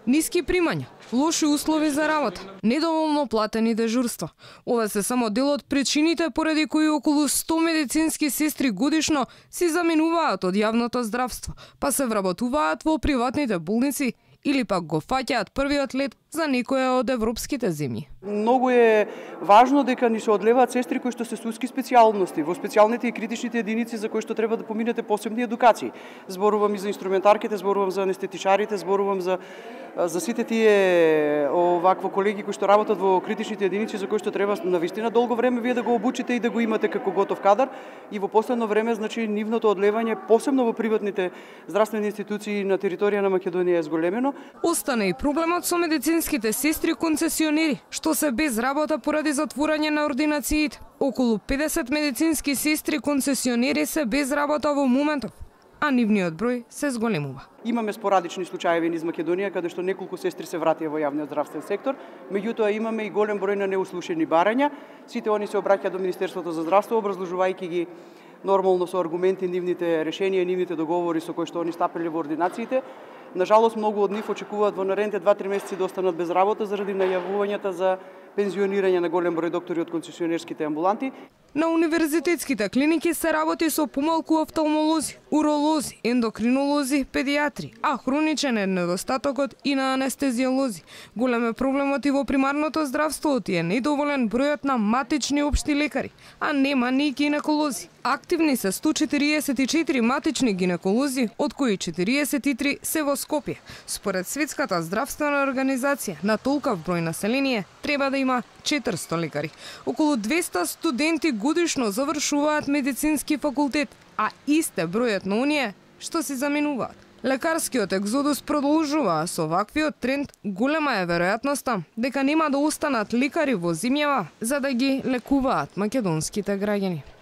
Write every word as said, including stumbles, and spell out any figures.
Ниски примања, лоши услови за работа, недоволно платени дежурства. Ова се само дел од причините поради кои околу сто медицински сестри годишно си заменуваат од јавното здравство, па се вработуваат во приватните болници или пак го фаќаат првиот лет за некоја од европските земји. Многу е важно дека ни се одлеваат сестри кои што се суски специјалности, во специјалните и критичните единици за кои што треба да поминете посебни едукации. Зборувам и за инструментарките, зборувам за анестетичарите, зборувам за за сите тие овакво колеги кои што работат во критичните единици за кои што треба навистина долго време вие да го обучите и да го имате како готов кадар, и во последно време значи нивното одлевање посебно во приватните здравствени институции на територија на Македонија е зголемено. Остана и проблемот со медицинските сестри концесионери, што се без работа поради затворање на ординациите. Околу педесет медицински сестри концесионери се без работа во моментов, а нивниот број се зголемува. Имаме спорадични случаи низ Македонија каде што неколку сестри се вратија во јавниот здравствен сектор, меѓутоа имаме и голем број на неуслушени барања. Сите они се обраќаат до Министерството за здравство образложувајќи ги нормално со аргументи нивните решенија, нивните договори со кои што они стапеле во ординациите. Нажалост, многу од нив очекуваат во наредните два-три месеци да останат без работа заради најавувањата за пензионирање на голем број доктори од концесионерските амбуланти. На универзитетските клиники се работи со помалку офталмолози, уролози, ендокринолози, педиатри, а хроничен е недостатокот и на анестезиолози. Голем е проблемот и во примарното здравство, и е недоволен бројот на матични општи лекари, а нема ни гинеколози. Активни се сто четириесет и четири матични гинеколози, од кои четириесет и три се во Скопје. Според Светската здравствена организација, на толкав број население треба да има четиристо лекари. Околу двесте студенти годишно завршуваат медицински факултет, а исте бројот на оние што се заменуваат. Лекарскиот екзодус продолжува, со ваквиот тренд голема е веројатноста дека нема да останат лекари во земјава за да ги лекуваат македонските граѓани.